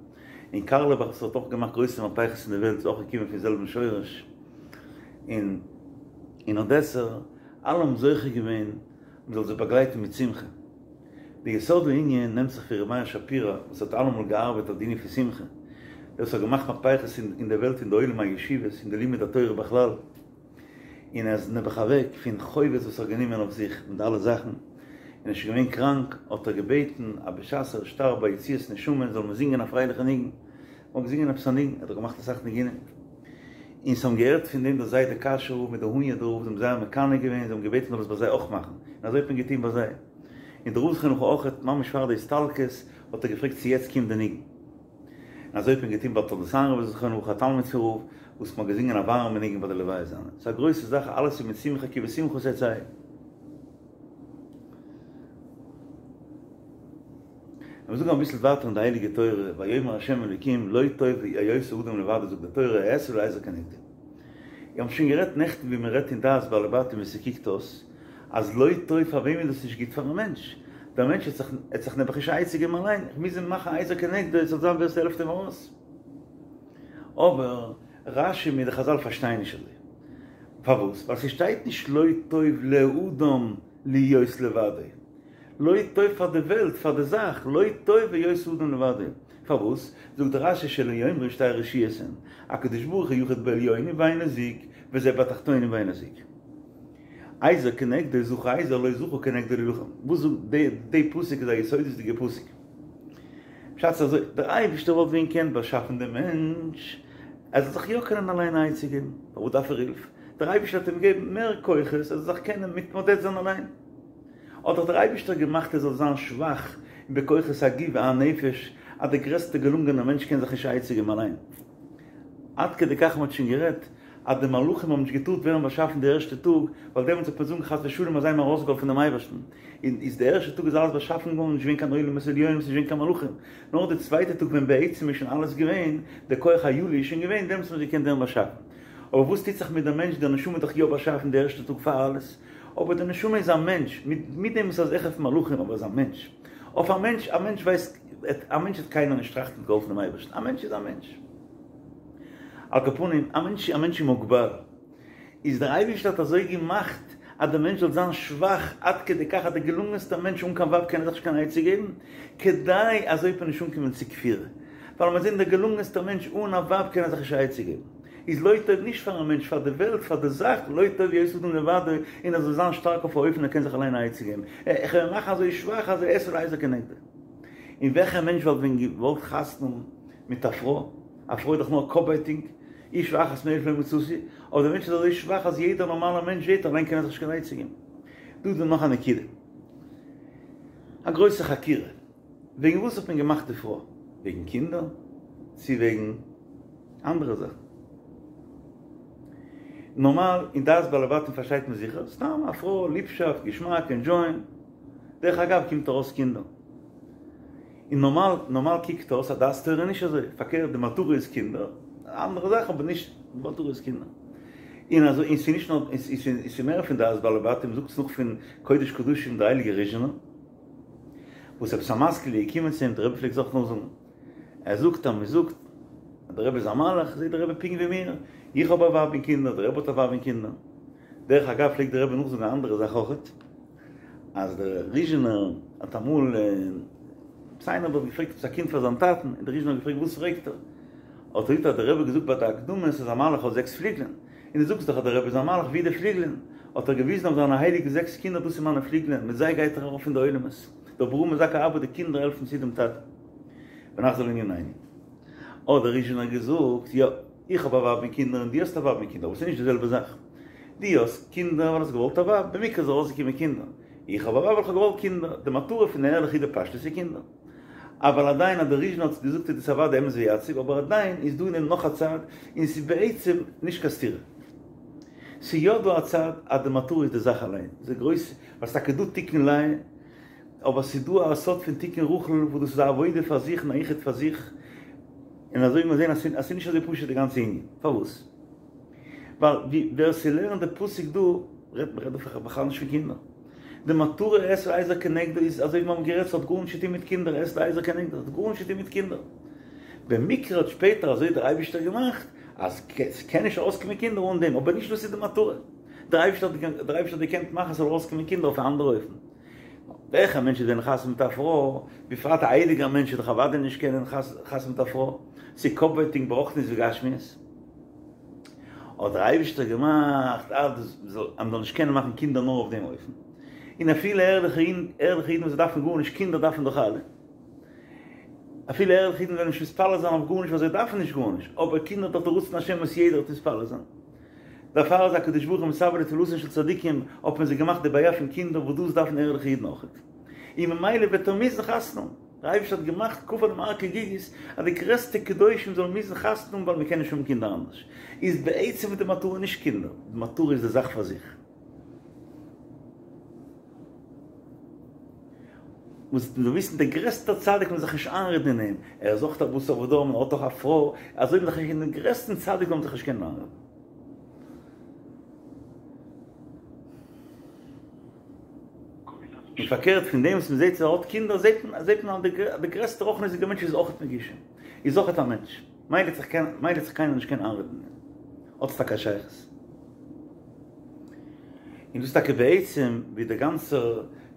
און קארלעבאך וואס האט אויך געמאכט גרויסע מהפכות אין די וועלט איז אויך געקומען פון זעלבן שורש, און און אדעסער, אלע האבן זוכה געווען מען זאל זיי באגלייטן מיט שמחה. די יסוד הענין נעמט זיך פון ר' מאיר שפירא וואס האט אלעמאל געארבעט אויף די ענין פון שמחה, דער וואס האט געמאכט מהפכות אין די וועלט אין די עולם הישיבות אין די לימוד התורה בכלל, און ער איז נעבעך אוועק פון חובות וואס ער האט גענומען אויף זיך מיט די אלע זאכן, און ער איז שוין געווען קראנק, האט ער געבעטן אז בשעת ער שטארבט ביי יציאת נשמה זאל מען זינגען א פרייליכע ניגון, מען האט געזינגען עפעס א ניגון, ער האט דאך געמאכט אסאך ניגונים, און ס'האבן געהערט פון דעם דער זיידע קאשוי רב מיט דער הוניאדער רב, זיי האבן זייער מקנא געווען, זיי האבן געבעטן מ'זאל עס ביי זיי אויך מאכן, און אזוי האט מען געטון ביי זיי. און דער רב זכרונו לברכה אויך, ממש פאר די הסתלקות, האט ער געפרעגט צו יעצט קומט די ניגון. און אזוי האט מען געטון ביי תולדות אהרן רבי זכרונו לברכה, א תלמיד פון רב, וואס מ'האט געזינגען א ווארעמע ניגון ביי די לוויה זיינע. ס'איז א גרויסע זאך, אלעס איז מיט שמחה כי בשמחה תצאו. לאמיר זאגן אביסל ווייטער אין די הייליגע תורה, ויאמר ה' אלוקים לא טוב היות האדם לבדו זאגט די תורה אעשה לו עזר כנגדו. מיר האבן שוין גערעדט נעכטן ווי מען רעדט אין דעת בעלי בתים ווי ס'קוקט אויס אז לא טוב פאר וועם איז דאס נישט גוט פארן מענטש, דער מענטש האט זיך האט זיך נעבעך נישט א עצה געבן אליין, איך מוז אים מאכן א עזר כנגדו עס זאל זיין ווער ס'העלפט אים ארויס. אבער. רשי מיט די חזל פארשטייען נישט אזוי. פארוואס? ווייל ס'שטייט נישט לא טוב לאדם להיות לבדו. לא טוב פאר די וועלט, פאר די זאך, לא טוב היות האדם לבדו. פארוואס? זאגט רשי שלא יאמרו שתי רשויות הן, הקדוש ברוך הוא יחיד בעליונים ואינו זוג, וזה בתחתונים ואינו זוג. עזר כנגדו זכה עזר לא זכה כנגדו להילחם. וואס זאגט די די פסוק איז א יסודות'דיגע פסוק. פשט איז אזוי, דער אייבערשטער וואלט ווען געקענט באשאפן דעם מענטש ער זאל זיך יא קענען אליין א עצה געבן, פארוואס דארף ער הילף? דער אייבערשטער האט אים געגעבן מער כוחות ער זאל זיך קענען מתמודד זיין אליין. האט דאך דער אייבערשטער געמאכט ער זאל זיין שוואך בכוחות הגוף והנפש, אז דער גרעסטער געלונגענער מענטש קען זיך נישט א עצה געבן אליין. עד כדי כך מ'האט שוין גערעדט אז די מלאכים האבן נישט געטארט ווערן באשאפן די ערשטע טאג, ווייל דעמאלטס וועט מען זאגן חס ושלום אז זיי האבן ארויסגעהאלפן דעם אייבערשטן, און איז די ערשטע טאג איז אלעס באשאפן געווארן נישט געווען קיין עולמות עליונים ס'נישט געווען קיין מלאכים, נאר די צווייטע טאג ווען בעצם איז שוין אלעס געווען, די כח היולי איז שוין געווען, דעמאלטס האט מען געקענט ווערן באשאפן. אבער וואס טוט זיך מיט די מענטש, די נשמה איז דאך יא באשאפן די ערשטע טאג פאר אלעס, אבער די נשמה איז א מענטש, מיט דעם וואס ער איז העכער פון מלאכים אבער ער איז א מענטש. אויף א מענטש, א מענטש ווייסט, א מענטש וועט קיינער נישט טראכטן האט געהאלפן דעם אייבערשטן, א מענטש איז א מענטש. על כל פנים, א מענטש, א מענטש איז מוגבל. איז דער אייבערשטער האט אזוי געמאכט אז דער מענטש זאל זיין שוואך עד כדי כך אז דער געלונגענסטער מענטש אן קיין ווייב קען ער זיך נישט קיין עצה געבן, כדי אזוי וועט מען נישט אנקומען צו כפירה. ווייל מיר זעען דער געלונגענסטער מענטש אן א ווייב קען ער זיך נישט א עצה געבן. איז לא טוב נישט פארן מענטש, פאר די וועלט, פאר די זאך, לא טוב היות האדם לבדו, און ער זאל זיין שטארק אויף א אופן ער קען זיך אליין א עצה געבן. איך וועל אים מאכן אזוי שוואך אז אעשה לו עזר כנגדו. און וועלכער מענטש וואלט ווען געוואלט חתונה האבן מיט א פרוי? א פרוי איז דאך נאר קאפווייטאג, אשה אחת מאלף לא מצאתי, אבער דער מענטש איז אזוי שוואך אז יעדער נארמאלער מענטש זעט אליין קען ער זיך נישט קיין עצה געבן. דא איז דא נאך א נקודה. א גרויסע חקירה. וועגן וואס האט מען געמאכט די פרוי? וועגן קינדער? צו וועגן אנדערע זאכן? נארמאל אין דעת בעלי בתים פארשטייט מען זיכער, סתם א פרוי, ליבשאפט, געשמאק, ענדזשויען. דרך אגב קומט ארויס קינדער. און נארמאל נארמאל קוקט אויס אז דעת תורה איז נישט אזוי, פארקערט די מטרה איז קינדער, אנדערע זאכן אבער נישט די מטרה איז קינדער. און אזוי און ס'איז נישט נאר און ס'איז מער פון דעת בעלי בתים, זאגטס נאך פון קודש קדשים די הייליגע ריזשינער, וואס עפעס א משכיל איז געקומען צו אים, דער רבי פלעגט זיך נאכזאגן, ער זאגט אז מ'זאגט אז דער רבי איז א מלאך, זעט דער רבי פונקט ווי מיר, איך האב א ווייב און קינדער, דער רבי האט א ווייב און קינדער. דרך אגב פלעגט דער רבי נאכזאגן א אנדערע זאך אויכעט. אז דער ריזשינער האט אמאל, עפעס איינער האט געפרעגט עפעס א קינד פאר זיין טאטן, און דער ריזשינער האט געפרעגט וואס פרעגט ער? האט ער געזאגט אז דער רבי האט געזאגט ביי די אקדמות אז א מלאך האט זעקס פליגלען, און דו זאגסט דאך אז דער רבי איז א מלאך וואו די פליגלען? האט ער געוויזן אויף זיינע הייליגע זעקס קינדער דאס איז מיינע פליגלען, מיט זיי גייט ער ארויף אין די עולמות, דער ברא מזכה אבא די קינדער העלפן צו דעם טאטן. ונחזור לענינינו. האט דער ריזשינער געזאגט, יא, איך האב א ווייב און קינדער און דו האסט א ווייב און קינדער, אבער ס'איז נישט די זעלבע זאך. דו האסט קינדער ווייל האסט געוואלט א ווייב, במקרה איז ארויסגעקומען קינדער. איך האב א ווייב ווייל איך האב געוואלט קינדער. די מטרה פון די ערליכע איד בפשטות איז קינדער. אבל עדיין אז דער ריזשינער האט עס געזאגט איז דאס אוודאי אמת ויציב, אבער עדיין איז דא אין דעם נאך א צד, און ס'איז בעצם נישט קיין סתירה. ס'איז יא דא א צד אז די מטרה איז די זאך אליין, ס'איז גרויס, ווייל ס'טאקע דא תיקון לאה, אבער ס'איז דא א סוד פון תיקון רחל וואס דאס איז א עבודה פאר זיך און א יחוד פאר זיך, און אזוי ווי מיר זעהן אז ס'איז נישט אזוי פשוט די גאנצע ענין. פארוואס? ווייל ווי ווער ס'לערנט די פסוק דא, רעדט מען רעדט דא בכלל נישט פון קינדער. די מטרה אעשה לו עזר כנגדו איז אזוי ווי מיר האבן גערעדט ס'האט גארנישט צו טון מיט קינדער אעשה לו עזר כנגדו האט גארנישט צו טון מיט קינדער. במקרה האט שפעטער אזוי דער אייבישטער געמאכט אז ס'קען נישט ארויסקומען קינדער אן דעם, אבער נישט דאס איז די מטרה. דער אייבישטער האט דער אייבישטער האט געקענט מאכן ס'זאל ארויסקומען קינדער אויף א אנדערע אופן. וועלכער מענטש איז דען חתונה מיט א פרוי? בפרט א הייליגער מענטש וועט דאך אוודאי נישט קענען חתונה מיט א פרוי, ס'איז קאפווייטאג ברוחניות וגשמיות. האט דער אייבישטער געמאכט אז מ'זאל נישט קענען מאכן קינדער נאר אויף דעם אופן. און אפילו ערליכע ערליכע אידן וואס דארפן גארנישט, קינדער דארפן דאך אלע. אפילו ערליכע אידן וועלן נישט מתפלל זיין אויף גארנישט ווייל זיי דארפן נישט גארנישט, אבער קינדער איז דאך די רצון השם וואס יעדער וועט מתפלל זיין. דערפאר איז הקדוש ברוך הוא מצוה לתפילתן של צדיקים, האט מען זיי געמאכט די בעיה פון קינדער וואס דאס דארפן ערליכע אידן אויכעט. און ממילא וועט ער מוזן חתונה האבן. דער אייבערשטער האט געמאכט כפה עליהם הר כגיגית אז די גרעסטע קדושים זאלן מוזן חתונה האבן ווייל מען קען נישט האבן קינדער אנדערש. איז בעצם איז די מטרה נישט קינדער, די מטרה איז די זאך פאר זיך. וואס מ'זאל וויסן דער גרעסטער צדיק מען זאל זיך נישט איינרעדן אין אים, ער איז אויך א בשר ודם און האט אויך א פרוי, אזוי מען זאל זיך נישט אין דעם גרעסטן צדיק זאל מען זיך נישט קענען איינרעדן. און פארקערט פון דעם וואס מען זעט אז ער האט קינדער זעט מען זעט מען אז דער גרעסטער רוחניות'דיגער מענטש איז אויך מגושם, איז אויך א מענטש, מילא וועט זיך קיינער נישט קענען איינרעדן אין אים. האט עס טאקע א שייכות. און דאס איז טאקע בעצם ווי די גאנצע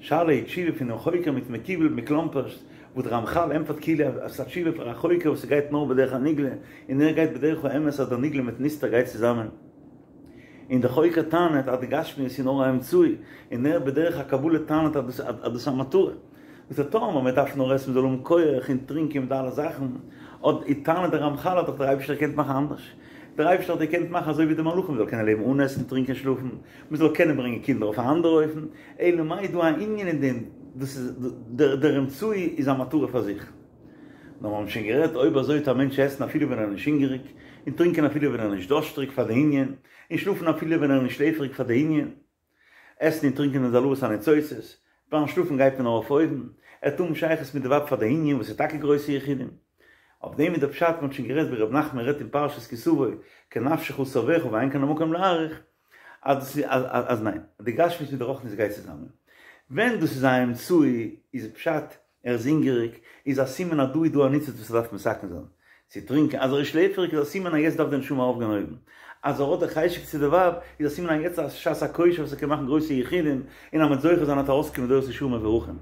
שאלה ותשובה פונעם חוקר מיט מקובל מקלומפערשט, וואו דער רמחל ענטפערט כאילו אז ס'איז א תשובה פאר א חוקר וואס ס'גייט נאר בדרך הנגלה, און ער גייט בדרך האמת אז דער נגלה מיט נסתר גייט צוזאמען. און דער חוקר טענה'ט אז די גשמיות איז נאר א אמצעי, און ער בדרך הקבלה טענה'ט אז דאס איז א מטרה. וואס דער טעם אז מען דארף נאר עסן מען זאל האבן כח און טרינקען מיט אלע זאכן, אט איז טענה'ט דער רמחל האט דאך דער אייבערשטער געקענט מאכן אנדערש, דער אייבערשטער האט געקענט מאכן אזוי ווי די מלאכים מען זאל קענען לעבן אן עסן טרינקען שלאפן, מען זאל קענען ברענגען קינדער אויף א אנדערע אופן, אלא מאי איז דא א ענין אין דעם, דאס איז דער אמצעי איז א מטרה פאר זיך. נאר מיר האבן שוין גערעדט אויב אזוי טאר א מענטש עסן אפילו ווען ער איז נישט הונגעריג, און טרינקען אפילו ווען ער איז נישט דארשטריג פאר די ענין, און שלאפן אפילו ווען ער איז נישט שלעפעריג פאר די ענין. עסן און טרינקען איז העלאת הניצוצות, ביים שלאפן גייט מען נאר אויף אויבן, ער האט אן שייכות מיט די ווייב פאר די ענין וואס איז טאקע גרויסע יחודים. אויף דעם איז דער פשט, מען האט שוין גערעדט ווי ר' נחמן רעדט אין פרשת כי תבוא, כי נפשך תאוך ואין כאן המקום להאריך, אז דאס איז אז ניין, די גשמיות מיט די רוחניות גייט צוזאמען. ווען דאס איז א אמצעי איז פשט ער איז הונגעריג, איז א סימן אז דא איז דא א ניצוץ וואס ער דארף מתקן זיין, צו טרינקען, אז ער איז שלעפעריג איז א סימן אז יעצט דארף די נשמה ארויפגיין אויבן, אז ער האט די חשק צו די ווייב, איז א סימן אז יעצט איז א שעת הכושר וואס ער קען מאכן גרויסע יחודים, און אז מ'וועט זוכה זיין וועט ארויסקומען דורות ישרים מבורכים.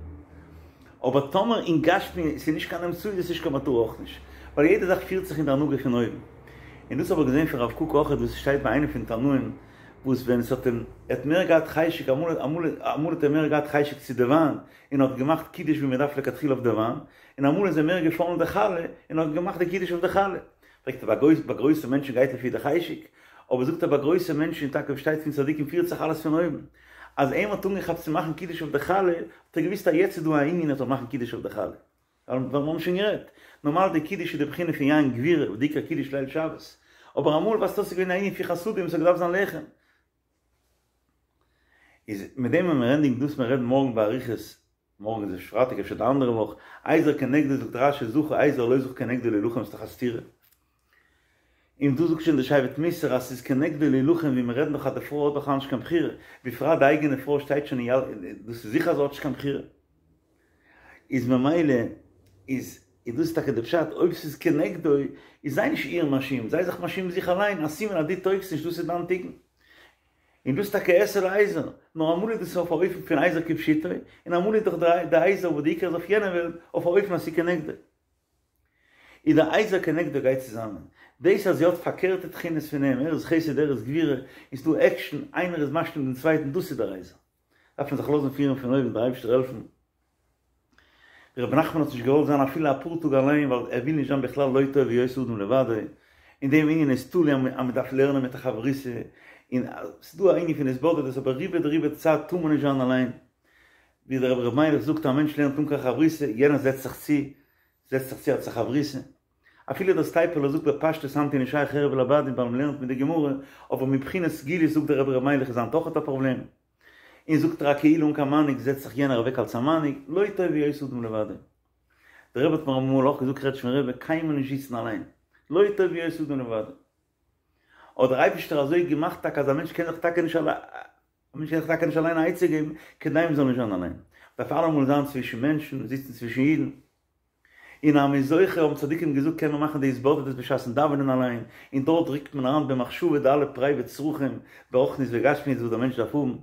אבער טאמער אין גשמי ס'איז נישט קיין אמצעי איז עס נישט קיין מטרה אויך נישט, ווייל יעדע זאך פירט זיך אין די הנהגה פון אויבן. און דאס האב איך געזען פון רב קוק אויכעט וואס עס שטייט ביי איינעם פון תנאים וואס ווען עס האט אים ער האט מער געהאט חשק אמאל אמאל אמאל האט ער מער געהאט חשק צו די וויין און האט געמאכט קידוש ווי מען דארף לכתחילה אויף די וויין, און אמאל איז אים מער געפאלן די חלה און האט געמאכט די קידוש אויף די חלה. פרעגט ער ביי גרויסע מענטשן גייט לפי די חשק, אבער זאגט ער ביי גרויסע מענטשן טאקע ווי שטייט פון צדיקים פירט זיך אלעס פון אויבן, אז אים האט אנגעכאפט צו מאכן קידוש אויף די חלה, האט ער געוויסט אז יעצט איז דא א ענין ער זאל מאכן קידוש אויף די חלה. ווייל מיר האבן שוין גערעדט, נארמאל די קידוש איז די בחינה פון יין גבירה וואס די עיקר קידוש ליל שבת, אבער אמאל ווייזט אויס ס'איז געווען א ענין פון חסדים ס'האט געדארפט זיין לחם. איז מיט דעם וועלן מיר ענדיגן דאס מיר רעדן מארגן באריכות, מארגן איז פרייטאג אפשר די אנדערע וואך, עזר כנגדו זאגט רש"י זכה עזר לא זכה כנגדו להילחם ס'איז דאך א סתירה. און דא זאגט שוין די שבט מוסר אז ס'איז כנגדו להילחם ווי מיר רעדן דאך אז די פרוי האט בכלל נישט קיין בחירה, בפרט די אייגענע פרוי שטייט שוין אין יל דאס איז זיכער אז זי האט נישט קיין בחירה. איז ממילא איז איז דאס טאקע די פשט אויב ס'איז כנגדו איז זיי נישט איר מאשים זיי זיך מאשים זיך אליין א סימן אז דו טויגסט נישט דאס איז דיין תיקון. און דאס איז טאקע אעשה לעזר, נאר אמאל איז דאס אויף א אופן פון עזר כפשוטו, און אמאל איז דאך די עזר וואס די עיקר איז אויף יענע וועלט, אויף א אופן אז ס'איז כנגדו. איז די עזר כנגדו גייט צוזאמען. דאס אז זי האט פארקערטע תכונות פון אים, ער איז חסד ער איז גבורה, און ס'דא עקשן, איינער איז משלים דעם צווייטן, דאס איז דער עזר. דארף מען זיך לאזן פירן פון אויבן, דער אייבערשטער העלפן. רבי נחמן האט נישט געוואלט זיין אפילו אפאר טאג אליין ווייל ער וויל נישט זיין בכלל לא טוב היות האדם לבדו, אין דעם ענין איז תלוי אז מען דארף לערנען מיט א חברותא, און ס'איז דא א ענין פון התבודדות אבער רובא דרובא צייט טאר מען נישט זיין אליין, ווי דער רבי ר' מיילעך זאגט א מענטש לערנט אן קיין חברותא, יענער זעצט זיך צו, זעצט זיך צו אלס א חברותא. אפילו דער סטייפלער זאגט בפשטות היינט איז נישט שייך חרב לבדים ווייל מען לערנט מיט די גמרא, אבער מבחינת סגולות זאגט דער רבי ר' מיילעך איז היינט אויכעט א פראבלעם. און זאגט ער א קהילה אן קיין מנהיג זעצט זיך יענער אוועק אלס א מנהיג, לא טוב היות האדם לבדו. דער רבי האט מיר אמאל אויך געזאגט כ'רעד שוין רבי, קיינמאל נישט זיצן אליין. לא טוב היות האדם לבדו. האט דער אייבישטער אזוי געמאכט טאקע אז א מענטש קען זיך טאקע נישט א מענטש קען זיך טאקע נישט אליין א עצה געבן, כדי מען זאל נישט זיין אליין. מ'דארף אלעמאל זיין צווישן מענטשן, זיצן צווישן אידן. און אז מ'איז זוכה האבן צדיקים געזאגט קען מען מאכן די התבודדות בשעת'ן דאווענען אליין, און דארט רוקט מען אריין במחשבה די אלע פרייוועט צרכים ברוחניות וגשמיות וואס דער מענטש דארף האבן. און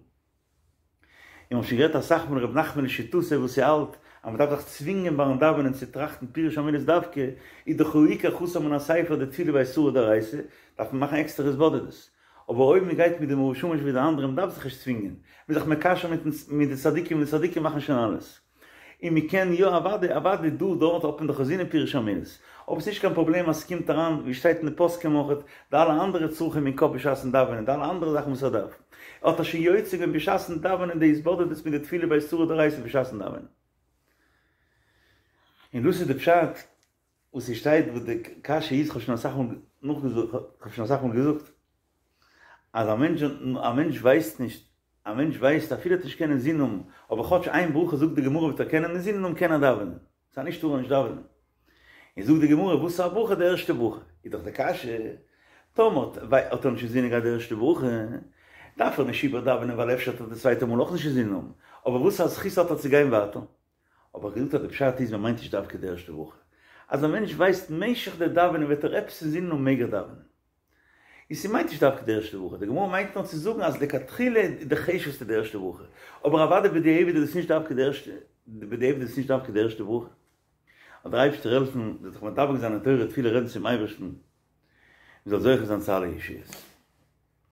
מ'האט שוין גערעדט אסאך מאל ר' נחמן לשיטתו וואס ער האלט אז מ'דארף זיך צווינגען ביים דאווענען צו טראכטן פירוש המילות דווקא, איז דאך הוא עיקר חסר מן הספר די תפילה ביי אתרא דאורייתא, דארף מען מאכן עקסטערע התבודדות. אבער אויב מ'גייט מיט די מאור ושמש ווי די אנדערע מ'דארף זיך נישט צווינגען, מ'איז זיך מקשר מיט די צדיקים און די צדיקים מאכן שוין אלעס. און מען קען יא אוודאי אוודאי דא דארט האט מען דאך אין זינען פירוש המילות, אבער ס'נישט קיין פראבלעם אז ס'קומט אריין ווי שטייט אין די פוסקים אויכעט די אלע אנדערע צרכים אין קאפ בשעת'ן דאווענען די אלע אנדערע זאכן וואס ער דארף האט ער שוין יוצא געווען בשעת'ן דאווענען די התבודדות מיט די תפילה ביי אתרא דאורייתא בשעת'ן דאווענען. און דאס איז די פשט וואס ס'שטייט וואס די קשיא איז כ'האב שוין אסאך מאל נאכגעזאגט כ'האב שוין אסאך מאל געזאגט אז א מענטש א מענטש ווייסט נישט א מענטש ווייסט אפילו ער וועט נישט קענען אינזין האבן אבער כאטש איין ברכה זאגט די גמרא וועט ער קענען אינזין האבן קען ער דאווענען ס'איז נישט טאר ער נישט דאווענען און זאגט די גמרא וואס איז א ברכה די ערשטע ברכה איז דאך די קשיא טאמער האט ער נישט אינזין געהאט די ערשטע ברכה דארף ער נישט איבער דאווענען ווייל אפשר האט ער די צווייטע מאל אויך נישט אינזין האבן אבער וואס א זכות האט ער צו גיין ווייטער האב איך געזאגט אז די פשט איז מען מיינט נישט דווקא די ערשטע ברכה. אז א מענטש ווייסט משך די דאווענען וועט ער עפעס אינזינען האבן מעג ער דאווענען. און ס'מיינט נישט דווקא די ערשטע ברכה, די גמרא מיינט נאר צו זאגן אז לכתחילה איז די חשוב'סטע די ערשטע ברכה, אבער אוודאי בדיעבד איז עס נישט דווקא די ערשטע, בדיעבד איז עס נישט דווקא די ערשטע ברכה. זאל דער אייבערשטער העלפן, מ'זאל זיך מדבק זיין אין תורה תפילה רעדן צום אייבערשטן, מ'זאל זוכה זיין צו אלע ישועות.